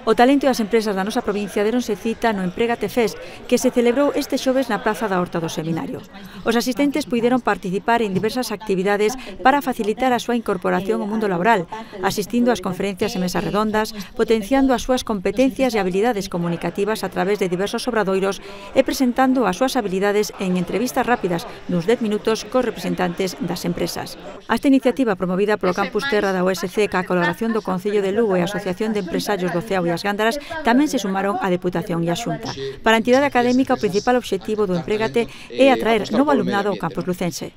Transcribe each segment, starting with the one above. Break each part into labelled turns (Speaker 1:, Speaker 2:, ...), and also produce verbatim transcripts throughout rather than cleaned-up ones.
Speaker 1: O talento e as empresas da nosa provincia deronse cita no Empregate Fest, que se celebrou este xoves na Praza da Horta do Seminario. Os asistentes puideron participar en diversas actividades para facilitar a súa incorporación ao mundo laboral, asistindo ás conferencias e mesas redondas, potenciando as súas competencias e habilidades comunicativas a través de diversos obradoiros e presentando as súas habilidades en entrevistas rápidas duns dez minutos cos representantes das empresas. Esta iniciativa promovida polo Campus Terra da U S C ca colaboración do Concello de Lugo e a Asociación de Empresarios do Ceao e as Gándaras tamén se sumaron a Deputación e a Xunta. Para a entidade académica, o principal obxectivo do Empregate é atraer novo alumnado ao campus lucense.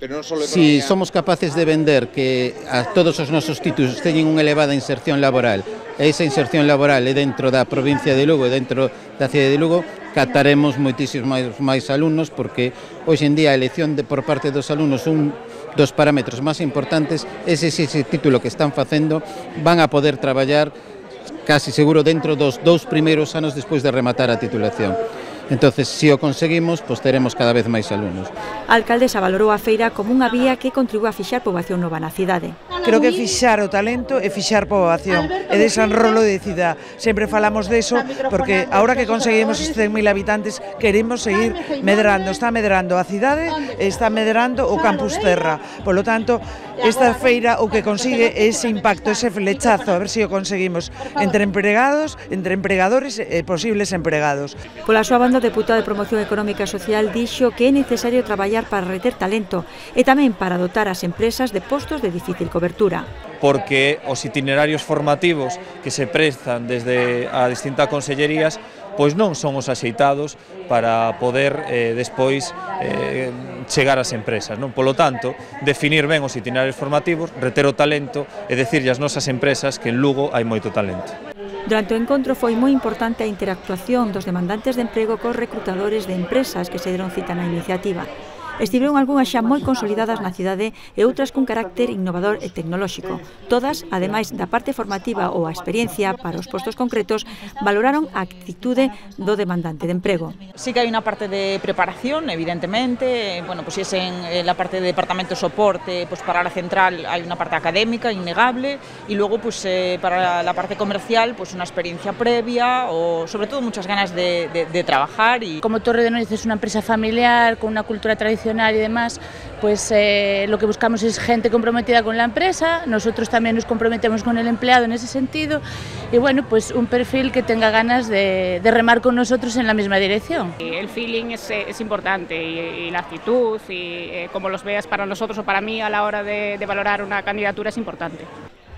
Speaker 2: Si somos capaces de vender que a todos os nosos títulos teñen unha elevada inserción laboral e esa inserción laboral é dentro da provincia de Lugo e dentro da cidade de Lugo, captaremos moitísimos máis, máis alumnos, porque hoxe en día a elección de, por parte dos alumnos un dos parámetros máis importantes é se ese título que están facendo van a poder traballar casi seguro dentro dos dous primeiros anos despois de rematar a titulación. Entonces, se o conseguimos, pois teremos cada vez máis alumnos.
Speaker 1: A alcaldesa valorou a feira como unha vía que contribúe a fixar poboación nova na cidade.
Speaker 3: Creo que fixar o talento e fixar poboación e desenrolo de cidade. Sempre falamos deso porque agora que conseguimos os cen mil habitantes queremos seguir medrando. Está medrando a cidade e está medrando o Campus Terra. Por lo tanto, esta feira o que consigue é ese impacto, ese flechazo, a ver se o conseguimos entre empregados, entre empregadores e posibles empregados.
Speaker 1: Pola súa banda, o deputado de Promoción Económica e Social dixo que é necesario traballar para reter talento e tamén para dotar as empresas de postos de difícil cobertura.
Speaker 4: Porque os itinerarios formativos que se prestan desde a distintas consellerías pois non son os axeitados para poder eh, despois eh, chegar ás empresas, non? Polo tanto, definir ben os itinerarios formativos, reter o talento e dicirlle ás nosas empresas que en Lugo hai moito talento.
Speaker 1: Durante o encontro foi moi importante a interactuación dos demandantes de emprego cos reclutadores de empresas que se deron cita na iniciativa. Estiveron algunhas xa moi consolidadas na cidade e outras cun carácter innovador e tecnolóxico. Todas, ademais da parte formativa ou a experiencia para os postos concretos, valoraron a actitude do demandante de emprego.
Speaker 5: Sí que hai unha parte de preparación, evidentemente, bueno, pues si es en la parte de departamento de soporte, pues para la central hai unha parte académica innegable y luego pues eh, para la parte comercial pues una experiencia previa o sobre todo muchas ganas de, de, de trabajar. Y
Speaker 6: como Torre de Noiz es una empresa familiar con una cultura tradicional y demás, pues eh, lo que buscamos es gente comprometida con la empresa, nosotros también nos comprometemos con el empleado en ese sentido y bueno, pues un perfil que tenga ganas de, de remar con nosotros en la misma dirección.
Speaker 7: El feeling es, es importante y, y la actitud y eh, como los veas para nosotros o para mí a la hora de, de valorar una candidatura es importante.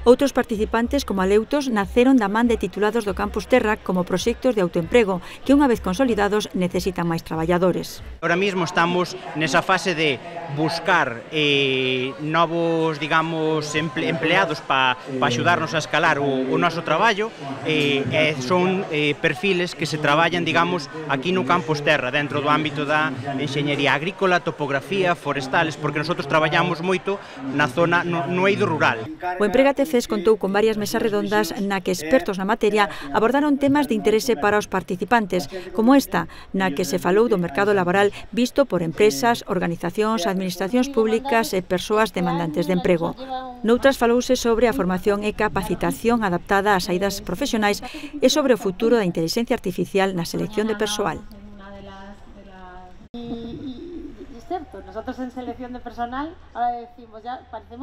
Speaker 1: Outros participantes, como Aleutos, naceron da man de titulados do Campus Terra como proxectos de autoemprego que, unha vez consolidados, necesitan máis traballadores.
Speaker 8: Ahora mismo estamos nesa fase de buscar eh, novos, digamos, emple, empleados para pa axudarnos a escalar o, o noso traballo eh, e son eh, perfiles que se traballan, digamos, aquí no Campus Terra, dentro do ámbito da enxeñería agrícola, topografía, forestales, porque nosotros traballamos moito na zona, no, no eido rural.
Speaker 1: O Empregate Fest contou con varias mesas redondas na que expertos na materia abordaron temas de interese para os participantes, como esta, na que se falou do mercado laboral visto por empresas, organizacións, administracións públicas e persoas demandantes de emprego. Noutras falouse sobre a formación e capacitación adaptada ás saídas profesionais e sobre o futuro da inteligencia artificial na selección de persoal.
Speaker 9: Y, y, y es cierto, nosotros en selección de personal ahora decimos ya parecemos